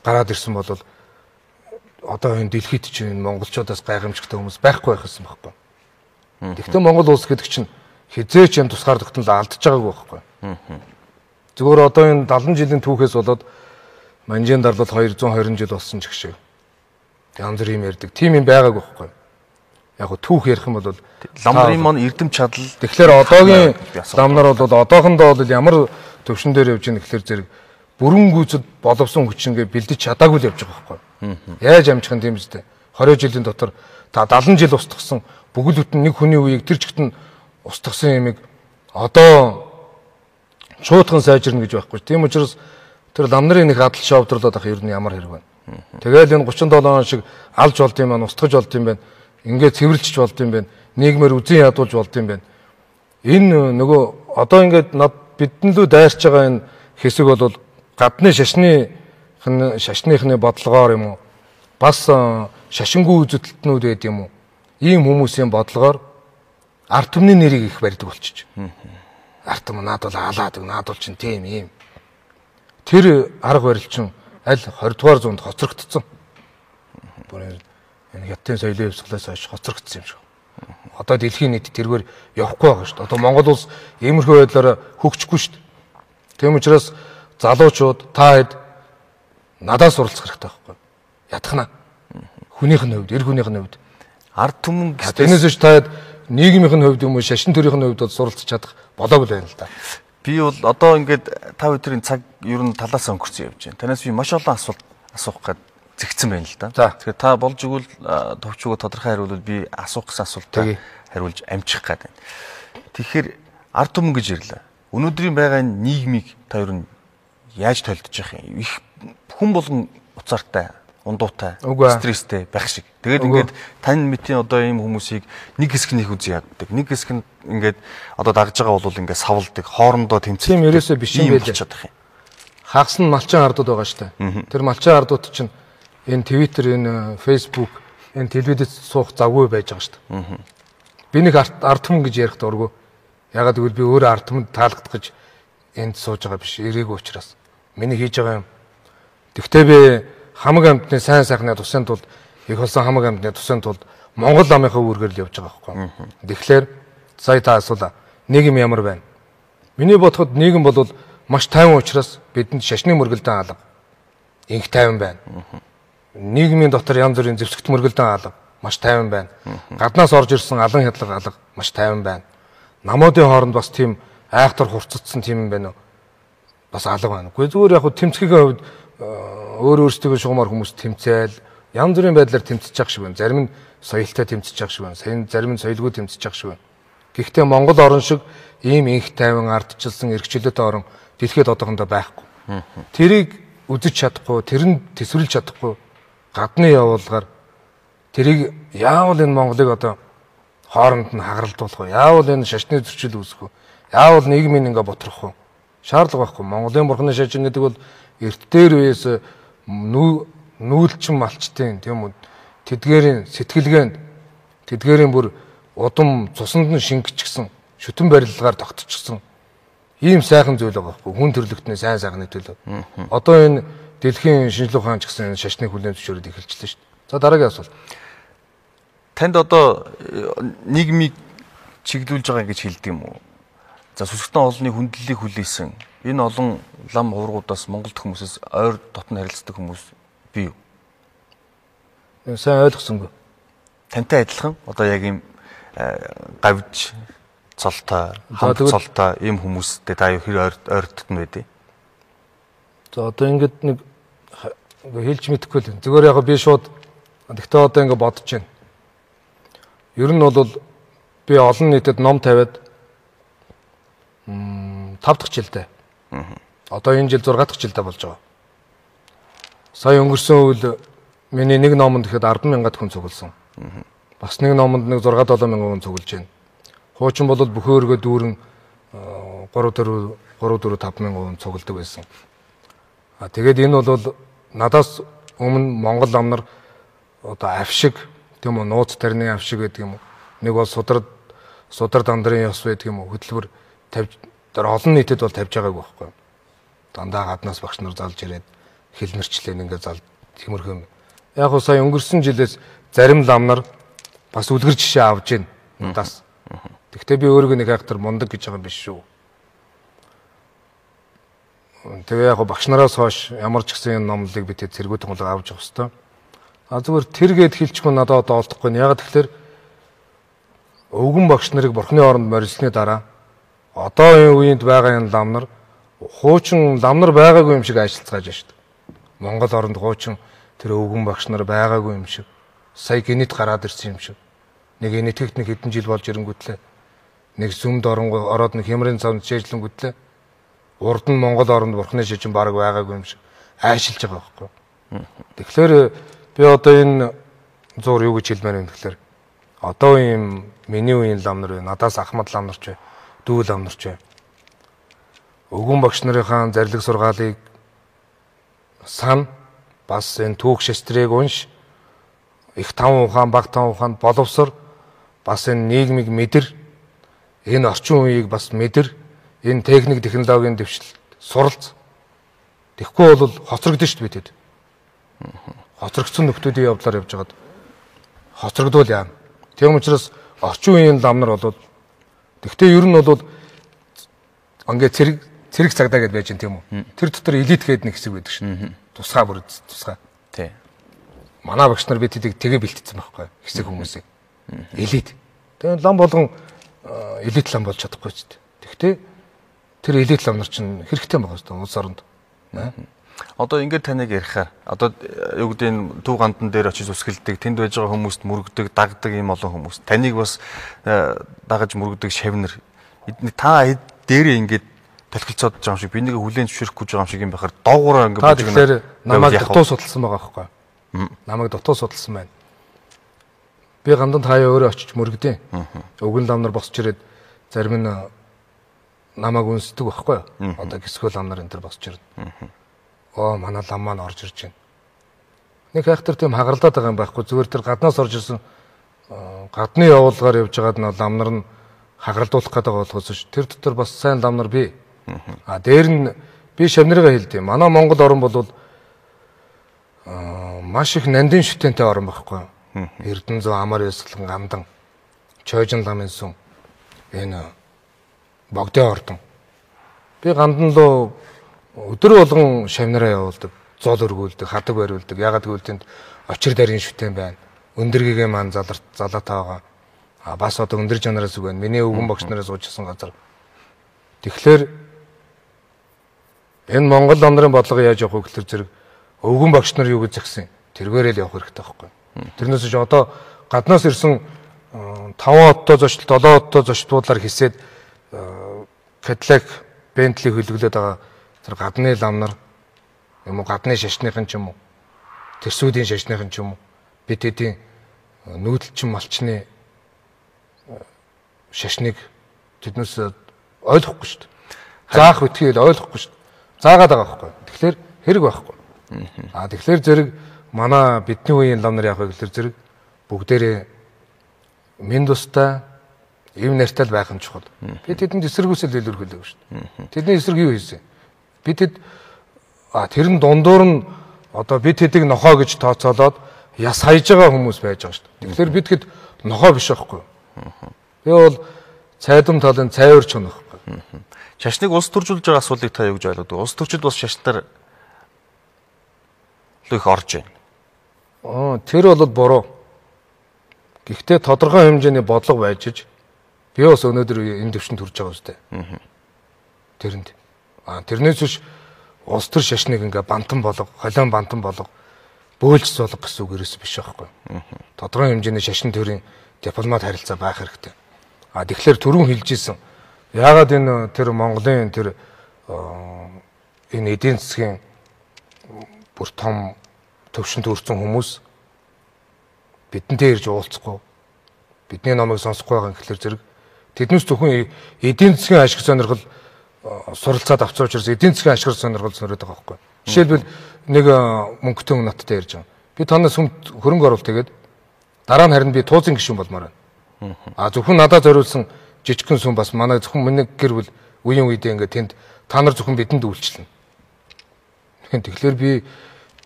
гараад ирсэн бол одоо энэ дэлхийд чинь монголчуудаас гайхамшигтай хүмүүс байхгүй байх гэсэн байхгүй. Тэгвэл Монгол улс гэдэг чинь хизээч энэ тусгаар тогтнол алдчихж байгаагүй байхгүй. Зүгээр одоо энэ 70 жилийн түүхээс болоод манжийн дарлал 220 жил болсон ч гэх шиг. Янз бүр юм ярьдаг. Тим юм байгаагүй байхгүй. Яг го түүх ярих юм бол ламрын мон эрдэм чадал. Тэгэхээр одоогийн лам нар бол одоохондоо бол ямар төвшин дээр явж байгаа гэхээр зэрэг бүрэн гүйцэд боловсон хүчингээ бэлдэж чадаагүй л явж байгаа байхгүй. Яаж амжих юм тийм үстэй. 20 жилийн дотор та 70 жил устгасан бүгд бүтэн нэг хүний үеийг тэр чигт нь устгасан юмыг одоо шуудхан сайжирна гэж байхгүй. Тийм учраас тэр лам нарын нэг хадал шовдрлоод ах ер нь ямар хэрэг байна. Тэгэл энэ 37 он шиг алж болд юм байна, устгаж болд юм байна. Ингээд цэвэрлжиж болд юм байна. Нийгмээр үзэн ядуулж болд юм байна. Энэ нөгөө одоо ингээд бидэн лүү дайрч байгаа энэ хэсэг бол гадны шашныхны бодлогоор юм уу? Бас шашингүй үзэгдэлтнүүд байд юм уу? Ийм хүмүүсийн бодлогоор ард түмний нэрийг их барьдаг болчих. Ард түмэн наад бол алаад, наад бол чинь тийм ийм. Тэр арга барил чинь аль 20 дугаар зуунд хоцрогдсон. Бүр энэ хятадын соёлын хувьсгалаас хойш хоцрогдсон юм шиг. Одоо дэлхийн нийт тэргээр явахгүй байгаа шүү дээ. Одоо Монгол улс иймэрхүү байдлаараа хөгжихгүй шүү дээ. Тийм учраас залуучууд та хэд надаас суралцах хэрэгтэй байхгүй. Ятгахна. Хүнийх нь хувьд, эр хүнийх нь хувьд ард түмэн тэрнээс ч та хэд нийгмийнх нь хувьд юм уу, шашин төрийнх нь хувьд суралцах чадах болоогүй л байна л да. Би бол одоо ингээд та өдрийн цаг ер нь талаас өнгөрцөн явж байна. Танаас би маш олон асуулт асуух гээд зэгцэн байна л да. Тэгэхээр та болж игэл товчгоо тодорхой хариулвал би асуух гэсэн асуултаа хариулж амжих гээд байна. Тэгэхээр ард түмэн гэж ирлээ. Өнөөдрийн байгаа нийгмийг та ер нь яаж толдож явах юм? Их хүн болгон уцаартай, ундуутай, стресстэй байх шиг. Тэгээд ингээд тань мэтийн одоо ийм хүмүүсийг нэг хэсгнийх үзий яддаг. Нэг хэсэг нь ингээд одоо дагж байгаа бол ингээд савлдаг, хоорондоо тэмцэх. Тийм ерөөсөө биш юм байлаа. Хагас нь малчин ардууд байгаа штэ. Тэр малчин ардууд чинь энэ Twitter, энэ Facebook, энэ телевизэд суух завгүй байж байгаа штэ. Би нэг ард түмэн гэж ярих дурггүй. Ягаад гэвэл би өөрөө ард түмэнд таалагдах гэж энд сууж байгаа биш. Ирээгүй учраас. Миний хийж байгаа юм. Тэгвэл би хамаг амьтны сайн сайхны тусын тулд их болсон хамаг амьтны тусын тулд Монгол ламынхаа үүргээр л явж байгаа байхгүй. Тэгэхээр сая та асуулаа. Нийгэм ямар байна? Миний бодоход нийгэм бол маш тайван учраас бидэнд шашны мөргөлдөн алга. Инх тайван байна. Нийгмийн дотор янз бүрийн зэвсэгт мөргөлдөн алга маш тайван байна. Гаднаас орж ирсэн алан хядлага алга маш тайван байна. Намуудын хооронд бас тийм айхтар хурцдсан тийм юм байна уу? Бас алга байна. Гэхдээ зүгээр яг тэмцэхийн хувьд өөрөөсөө шугамар хүмүүс тэмцээл янз бүрийн байдлаар тэмцэж явах шиг байна. Зарим нь соёлтой тэмцэж явах шиг байна. Зарим нь соёлгүй тэмцэж явах шиг байна. Гэхдээ Монгол орн шиг ийм инх тайван ардчилсан эрхчлөөтэй орн дэлхийд одоохондоо байхгүй. Тэрийг үзэж чадахгүй, тэрэнд төсвөрлж чадахгүй гадны явуулгаар тэрийг яавал энэ Монголыг одоо хооронд нь хагаралдуулах вэ? Яавал энэ шашны зөрчил үүсгэх вэ? Яавал нийгмийн ингээ ботрох вэ? Шаардлага байхгүй. Монголын бурхны шашин гэдэг бол эрт дээр үеэс нүүлчин малчтын тийм үү тэдгээрийн сэтгэлгээнд тэдгээрийн бүр удам цуснд нь шингэчихсэн шүтэн барилгаар тогтчихсон ийм сайхан зүйл байгаа байхгүй хүн төрлөختний сайн сайхны төлөө. Одоо энэ дэлхийн шинжлэх ухаан ч гэсэн шашны хүлээн зөвшөөрөд эхэлчихлээ шүү дээ. За дараагийн асуулт. Танд одоо нийгмийг чиглүүлж байгаа гэж хэлдэг юм уу? За сүсгтэн олонний хүндлэлийг хүлээсэн энэ олон лам хуврагуудаас Монголд хүмүүсээс ойр дотн харилцдаг хүмүүс бий юу? Сайн ойлгосонгүй. Тантай адилхан одоо яг ийм гавж цолтой, хамт цолтой ийм хүмүүстэй та хэр ойр дотн байдیں۔ За одоо ингээд нэг хэлж мэдэхгүй л. Зүгээр яг би шууд тэгтээ одоо ингээд бодож байна. Ер нь бол би олон нийтэд ном тавиад 5 дахь жилдээ. Одоо энэ жил 6 дахь жилдээ болж байгаа. Сая өнгөрсөн үйл миний нэг номонд ихэд 10,000 хүн цугласан. Бас нэг номонд нэг 6-7 мянган хүн цуглаж байна. Хуучин бол бүхөөргөө дүүрэн 3-4-5 мянган хүн цугладаг байсан. Тэгээд энэ бол надаас өмнө Монгол ам нар одоо авшиг тийм үү, нууц тарны авшиг гэдэг юм уу. Нэг бол судар дандрын ёс байдаг юм уу, хөтөлбөр тавьж олон нийтэд бол тавьж байгаагүй байхгүй. Дандаа гаднаас багш нар залж ирээд хэлмэрчлэн ингээд зал тиймэрхүү. Яг уу сая өнгөрсөн жилээс зарим лам нар бас үлгэр жишээ авж гин надаас. Тэгвэл би өөрийгөө нэг хайтар мундаг гэж байгаа юм биш шүү. Тэгээ яг багш нараас хойш ямар ч гэсэн номлыг би тэр цэргүүд тунгалаг авч явах хэвээр. Зүгээр тэр гээд хэлчихгүй надад одоо олдохгүй. Яг тэгэхээр өвгөн багш нарыг бурхны оронд морилсны дараа одоо энэ үеинд байгаа энэ лам нар хуучин лам нар байгаагүй юм шиг ажиллацгааж байна шүү дээ. Монгол оронд хуучин тэр өвгөн багш нар байгаагүй юм шиг. Сая генет гараад ирсэн юм шиг. Нэг генетикт нэг хэдэн жил болж ирэнгүүтлээ. Нэг сүмд ороод нэг хямрын цавнд чэжлэнгүүтлээ. Урд нь Монгол оронд бурхны шижин баг байгаагүй юм шиг айшилж байгаа байхгүй. Тэгэхээр би одоо энэ зур юу гэж хэлмээр юм тэгэхээр одоо ийм миний үеийн лам нар байна. Надаас ахмад лам нар ч бай, дүү лам нар ч бай. Өвгөн багш нарын зарлиг сургаалыг сан бас энэ түүх шестрийг унш их таван ухаан баг таван ухаанд боловсор бас энэ нийгмийг мэдэр энэ орчин үеийг бас мэдэр энэ техник технологийн дэвшил суралц тэгэхгүй бол хоцрогдсон шүү дээ бидэд. Хоцрогдсон нөхдүүдийн явдлаар явж байгаад хоцрогдвол яана. Тийм учраас орчин үеийн лам нар бол тэгтээ ер нь бол ингээд цэрэг цагдаа гэдээ байж гэн тийм үү. Тэр дотор элит гэдэг нэг хэсэг байдаг шин. Тусгай бүр тусгай. Тий. Манай багш нар бид тэгээ бэлтцсэн байхгүй хэсэг хүмүүсийг. Элит. Тэгээ лам болгон элит лам болж чадахгүй ч дээ. Тэгтээ тэр элит лам нар чинь хэрэгтэй байгаа шүү дээ улс оронд. Одоо ингээд таныг ярихаар одоо юу гэдэг нь төв гандан дээр очиж үсгэлдэг, тэнд байж байгаа хүмүүст мөрөгдөг, дагдаг ийм олон хүмүүс. Таныг бас дагаж мөрөгдөг шавнар. Та дээрээ ингээд талхилцаад байгаа юм шиг, би нэг хүлэн зөвшөөрөхгүй байгаа юм шиг юм байхаар доогуур ингээд бож гэнэ. Тэгэхээр намайг дутуу судалсан байгаа байхгүй. Намайг дутуу судалсан байна. Би ганданд хаяа өөрөө очиж мөрөгдөө. Өвгөн лам нар босч ирээд зарим нь намайг үнсдэг байхгүй. Одоо гисгөл лам нар энэ төр босч ирнэ. Манай лам маань орж ирж байна. Нэг хайхтар тийм хагаралдаад байгаа юм байхгүй. Зүгээр тэр гаднаас орж ирсэн гадны явуулгаар явж байгаад нь лам нар нь хагаралдуулах гэдэг болохоос ш. Тэр дотор бас сайн лам нар бий. Дээр нь би шавнарыгаа хэлдэг. Манай Монгол орн бол маш их нандин шүтэнтэй орн байхгүй. Эрдэнэзүү амар ёслон гандан чойжин ламын сүм энэ богдын ордон. Би гандан лөө өдөр болгон шавнараа явуулдаг, зол өргүүлдэг, хадаг бариулдаг. Ягаад гэвэл тэнд очир дарийн шүтэн байна. Өндөргийгээ маань залаатаа байгаа. Бас одоо өндөр жанараас үг байна. Миний өвгөн багш нараас уужсан газар. Тэгэхээр энэ Монгол лам нарын бодлого яаж явах вэ гэхээр зэрэг өвгөн багш нар юу гэж згсэн. Тэргээрэл явах хэрэгтэй байхгүй. Тэрнээс ч одоо гаднаас ирсэн 5 оттой зочд 7 оттой зочдлуудаар хисээд Cadillac Bentley хөлөглөөд байгаа тэр гадны лам нар юм уу гадны шашныхын ч юм уу тэрсүүдийн шашныхын ч юм уу бид хэдийн нүүдэлчин малчны шашныг тэднээс ойлгохгүй шүү дээ. Заах үтгийг ойлгохгүй шүү дээ. Заагаад байгаа байхгүй. Тэгэхээр хэрэг байхгүй. Тэгэхээр зэрэг манай бидний үеийн лам нар яг гэхэлэр зэрэг бүгдээрээ минь тустай эв нартай байх нь чухал. Бид тэдэнд эсэргүүцэл илэрхийлэв шүү дээ. Тэдний эсрэг юу хийсэн? Бид тэр нь дундуур нь одоо бид хэдийг нохоо гэж тооцоолоод яс хайж байгаа хүмүүс байж байгаа шүү дээ. Тэгэхээр бид хэд нохоо биш байхгүй. Би бол цайдам талын цайвар ч байхгүй. Шашныг улс төржүүлж байгаа асуудлыг та юу гэж ойлгодог? Улс төрчид бас шашнаар их орж байна. Тэр бол буруу. Гэхдээ тодорхой хэмжээний бодлого байж иж би бас өнөөдөр энэ төвшөнд хүрч байгаа үстэй. Тэрэнд. Тэрнээс биш улс төр шашныг ингээ бантан болго, холион бантан болго, бөөлж золго гэсэн үг ерөөс биш байхгүй. Тодорхой хэмжээний шашин төрийн дипломат харилцаа байх хэрэгтэй. Тэгэхээр түрүүн хэлжсэн. Яагаад энэ тэр Монголын тэр энэ эдийн засгийн бүр том төвшөнд өрцөн хүмүүс бидэнтэй ирж уулзахгүй бидний номыг сонсохгүй байгаа гэхэлэр зэрэг тэднээс зөвхөн эдийн засгийн ашиг сонирхол суралцаад авсан учраас эдийн засгийн ашиг сонирхол сонирхоод байгаа байхгүй. Жишээлбэл нэг мөнгөтэй хүн надтай ярьж байгаа. Би танаас хөрөнгө оруулалт тэгээд дараа нь харин би туузын гишүүн болмоор байна. Зөвхөн надад зориулсан жижигхэн сүм бас манай зөвхөн миний гэр бүл үеийн үедээ ингээд тэнд та нар зөвхөн бидэнд үйлчлэнэ. Тэгэхээр би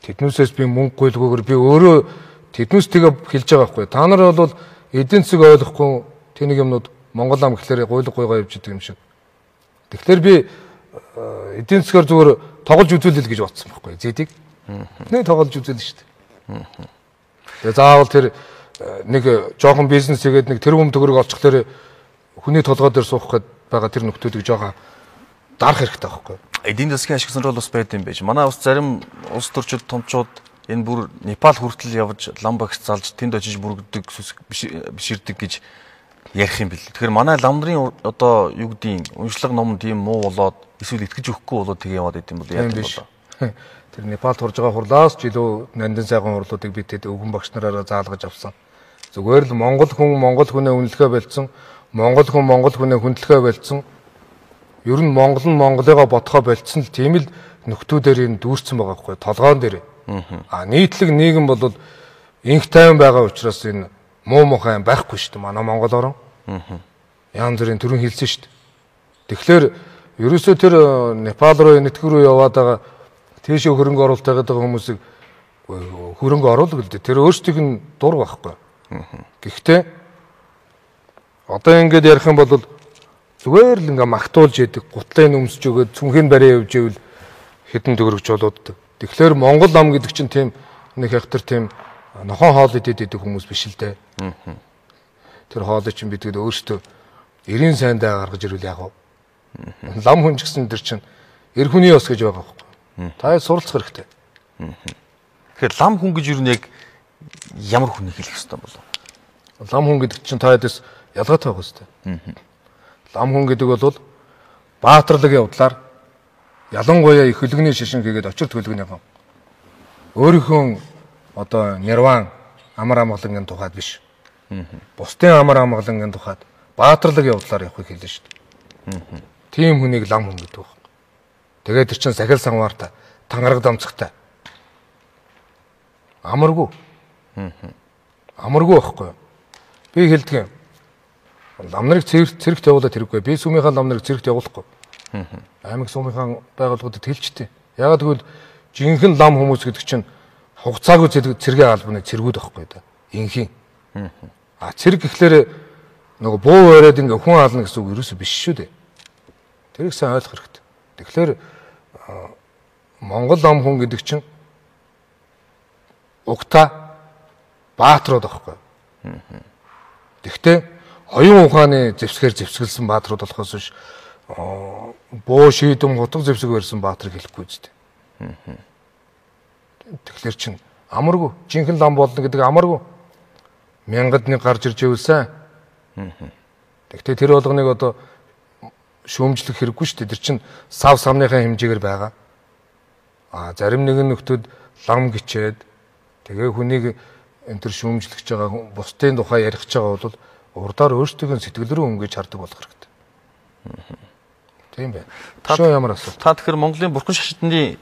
тэднүүсээс би мөнгө гуйлгүйгээр би өөрөө тэднүүс тэгээ хэлж байгаа байхгүй. Та нар бол эдийн засаг ойлгохгүй тэнийг юмнууд Монгол ам гэхлээр гуйлгойгоо явж идэг юм шиг. Тэгэхээр би эдийн засгаар зүгээр тоглож үзүүлэл гэж бодсон байхгүй. Зэдийг. Нэг тоглож үзүүлнэ шүү дээ. Тэгээ заавал тэр нэг жоохон бизнес хийгээд нэг тэрбум төгрөг олчихлоор хүний толгой дээр суух гээд байгаа тэр нөхдүүдийг жоохон дарах хэрэгтэй байхгүй. Эдийн засгийн ашиг сонирхол бас байд юм байж. Манай бас зарим улс төрчид томчууд энэ бүр Непал хүртэл явж лам багш залж тэнд очиж бүргдэг биширдэг гэж ярих юм бэл. Тэгэхээр манай лам нарын одоо юу гэдгийг уншлаг ном тийм муу болоод эсвэл итгэж өгөхгүй болоод тэгээ яваад идэм бол яа гэвэл тэр Непалд хурж байгаа хурлаас ч илүү нандин сайхан хурлуудыг бид тэд өвгөн багш нараараа заалгаж авсан. Зүгээр л Монгол хүнээ үнэлэхэ болцсон, Монгол хүнээ хүндлэхэ болцсон. Ер нь Монголыгоо бодхоо болцсон л тийм л нөхдүүдээр энэ дүүрсэн байгаа байхгүй толгоон дээр. Нийтлэг нийгэм бол инх тайван байгаа учраас энэ муу мухай байхгүй шүү дээ манай Монгол орн. Янз бүрийн төрөн хэлсэн шүү дээ. Тэгэхээр ерөөсөө тэр Непал руу нэтгэр рүү яваад байгаа тийшээ хөрөнгө оруулалт хийгээд байгаа хүмүүсийг хөрөнгө оруулах л дээ. Тэр өөрсдийнх нь дур байхгүй. Гэхдээ одоо ингэж ярих юм бол зүгээр л ингээ магтуулж яадаг, гутлын өмсөж өгөөд цүнхийн бариа явж ивэл хэдэн төгрөгч болоод. Тэгэхээр Монгол ам гэдэг чинь тийм нэг хятар тийм нохон хоол идэд идэх хүмүүс биш л дээ. Тэр хоолыг чинь бид өөрсдөө эрийн сайндаа гаргаж ирвэл яг уу. Лам хүн ч гэсэн тэр чинь эр хүний ёс гэж байгаа байхгүй. Та суралцах хэрэгтэй. Тэгэхээр лам хүн гэж юу нэг ямар хүнийг хэлэх ёстой болов? Лам хүн гэдэг чинь та хэд ялгаатай байх ёстой. Лам хүн гэдэг бол баатарлаг явдлаар ялангуяа их хөлгөний шишин хийгээд очирт хөлгөнийхөө өөрийнхөө одоо нирван амар амгалангийн тухайд биш. Бусдын амар амгалангийн тухайд баатарлаг явдлаар явахыг хэлнэ шүү дээ. Тийм хүнийг лам хүн гэдэг байна. Тэгээд тэр чинь сахил санваартай, тангараг дамцагтай. Амаргүй. Амаргүй байхгүй. Би хэлдэг юм. Лам нарыг цэрэгт явуулаад хэрэггүй. Би сүмийнхаа лам нарыг цэрэгт явуулахгүй. Аймаг сүмийнхаа байгууллагуудад хэлчихдээ. Ягаад гэвэл жинхэнэ лам хүмүүс гэдэг чинь хугацаагүй цэргийн албаны цэргүүд байхгүй да. Инхийн. Цэрэг гэхлээр нөгөө буу өрөөд ингээ хүн ална гэсэн үг ерөөсөө биш шүү дээ. Тэрийг сайн ойлгох хэрэгтэй. Тэгэхээр Монгол лам хүн гэдэг чинь угтаа баатрууд байхгүй. Тэгвэл оюун ухааны зэвсгэлсэн баатрууд болохоос биш боо шийдэм хутга зэвсэг барьсан баатрыг хэлэхгүй зү. Тэгэхээр чин амаргүй жинхэнэ лам болно гэдэг амаргүй. Мянгад нэг гарч ирж ивэл сайн. Тэгтээ тэр болгоныг одоо шүүмжлэх хэрэггүй шүү дээ. Тэр чин сав самныхаа хэмжээгээр байгаа. Зарим нэгэн нөхдүүд лам гिचээд тэгээ хүнийг энэ төр шүүмжлэж байгаа бусдын тухай ярих гэж байгаа бол урдаар өөрсдөө сэтгэл рүү өнгөж хардаг болох хэрэгтэй. Тийм байна. Шоо ямар асуулт? Та тэгэхээр Монголын бурхан шашинтны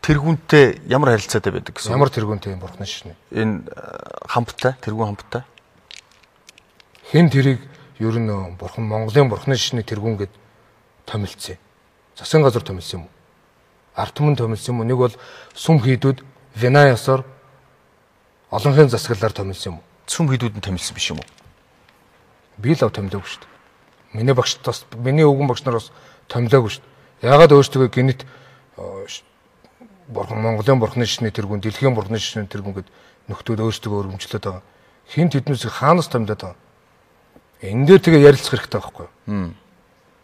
тэргүүнтэй ямар харилцаатай байдаг гэсэн? Ямар тэргүүнтэй юм бурхан шашны? Энэ хамттай, тэргүүн хамттай. Хэн тэрийг ер нь бурхан Монголын бурхан шашны тэргүүн гэд томилцсон. Засгийн газар томилсон юм уу? Ард түмэн томилсон юм уу? Нэг бол сүм хийдүүд Винаясаар олонхын засаглалаар томилсон юм уу? Сүм хийдүүд нь томилсон биш юм уу? Би л томилоогүй шүү дээ. Миний багш бас миний өвгөн багш нар бас томилоогүй шүү дээ. Яагаад өөрсдөө гинэт бурхан Монголын бурхны шашны тэргүүн, дэлхийн бурхны шашны тэргүүн гэд нөхдүүд өөрсдөө өргөмжлөд байгаа. Хин тэднээс хаанаас томилоод байгаа? Энэ дээр тэгээ ярилцах хэрэгтэй байхгүй юу?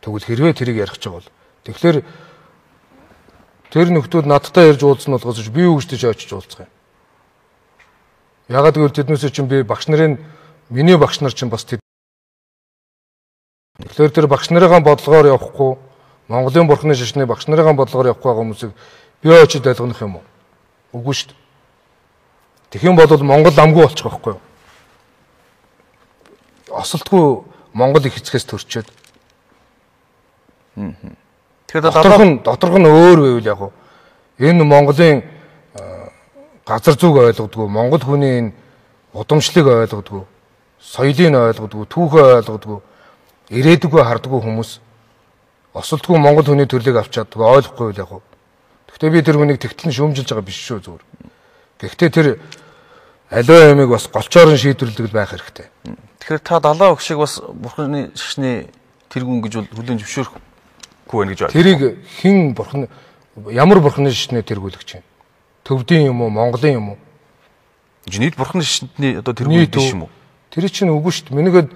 Тэгвэл хэрвээ тэрийг ярих гэж бол тэгэхээр тэр нөхдүүд надтай ярьж уулзсан болгоос би юу гэж очиж уулзах юм. Яагаад гэвэл тэднээс чинь би багш нарын миний багш нар чинь бас тэгэхээр тэр багш нарын бодлогоор явахгүй Монголын бурхны шашны багш нарын бодлогоор явахгүй байгаа хүмүүсийг би очиж ойлгох юм уу? Үгүй шүү дээ. Тэгэх юм бол Монгол амгүй болчих واخгүй юу? Осолтгүй Монгол их хэцгээс төрчөөд. Тэгэхээр доторх нь өөр байвал яг энэ Монголын газар зүг ойлгодгоо, Монгол хүний энэ удамшлыг ойлгодгоо, соёлыг ойлгодгоо, түүхээ ойлгодгоо, ирээдүгөө хардггүй хүмүүс осолтгүй Монгол хүний төрлийг авчаад ойлгохгүй л яг. Гэхдээ би тэр хүнийг тэгтэл нь шүүмжилж байгаа биш шүү зүгээр. Гэхдээ тэр аливаа ямиг бас голчоор нь шийдвэрлэдэг байх хэрэгтэй. Тэгэхээр та далаа өгшиг бас бурхны шашны тэргүүн гэж бол хүлээн зөвшөөрөхгүй байна гэж байна. Тэрийг хэн бурхан ямар бурхны шашны тэргүүлэгч юм? Төвдийн юм уу, Монголын юм уу? Нийт бурхны шашны одоо тэргүүн биш юм уу? Тэр чинь үгүй шүү дээ. Минийхэд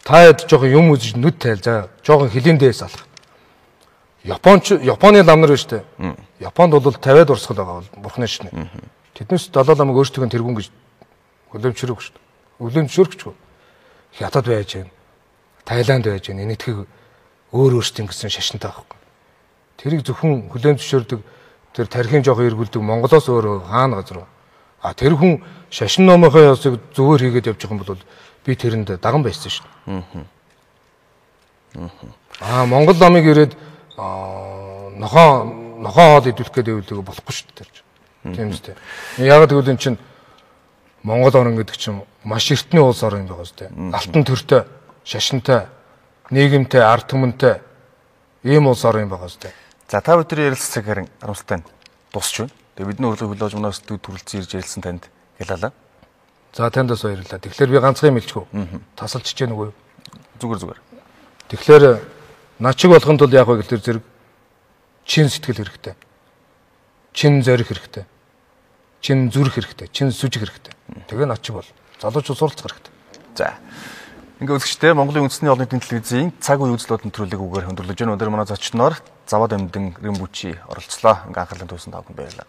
та яд жоохон юм үзэж нүд тайлзаа. Жоохон хилийн дээс алах. Японы лам нар шүү дээ. Японд бол 50-аад урсгал байгаа бол бурхны шашны. Тэднээс далаа ламыг өөрсдөө тэргүүн гэж хүлэмжшөрөхгүй шүү дээ. Хүлэмжшөрөхгүй. Хятад байж гэн, Таиланд байж гэн, энэтхэг өөрсдийн гэсэн шашинтай байхгүй. Тэрийг зөвхөн хүлэмжшөрдөг тэр тархин жоох эргүүлдэг Монголоос өөр хаана газар. Тэр хүн шашин номынхоо ясыг зүгээр хийгээд явж байгаа юм бол би тэрэнд даган байсан шүү дээ. Монгол ламыг ирээд нохоо хоол идүүлэх гэдэг нь болохгүй шүү дээ. Тийм үстэй. Яг тэгвэл эн чинь Монгол орн гэдэг чинь маш эртний улс орн юм байгаа зү. Алтан төртэй, шашинтай, нийгэмтэй, ард түмэнтэй ийм улс орн юм байгаа зү. За та өдрийн ярилцлага харин харамсалтай дуусч байна. Тэгээ бидний урлагийн хөлөөж мунаас төрөлцөн ирж ярилцсан танд ялалаа. За танд бас баярлалаа. Тэгэхээр би ганцхан юм хэлчихв. Тасалж чиж нүгөө. Зүгээр. Тэгэхээр над чиг болохын тулд яг вэ гэхээр зэрэг чин сэтгэл хэрэгтэй. Чин зориг хэрэгтэй. Чин зүрх хэрэгтэй. Чин сүжиг хэрэгтэй. Тэгээ над чиг бол залуучууд суралцах хэрэгтэй. За. Ингээ үзэгчтэй Монголын үндэсний олон нийтийн телевизийн цаг үе үзэл бодлого нэвтрүүлгийг үгээр хөндөрлөж байна. Өнөөдөр манай зочноор Заваад Амьдан Римбүчи оролцлоо. Ингээ анхаарлын төвсөн тавхан баярлалаа.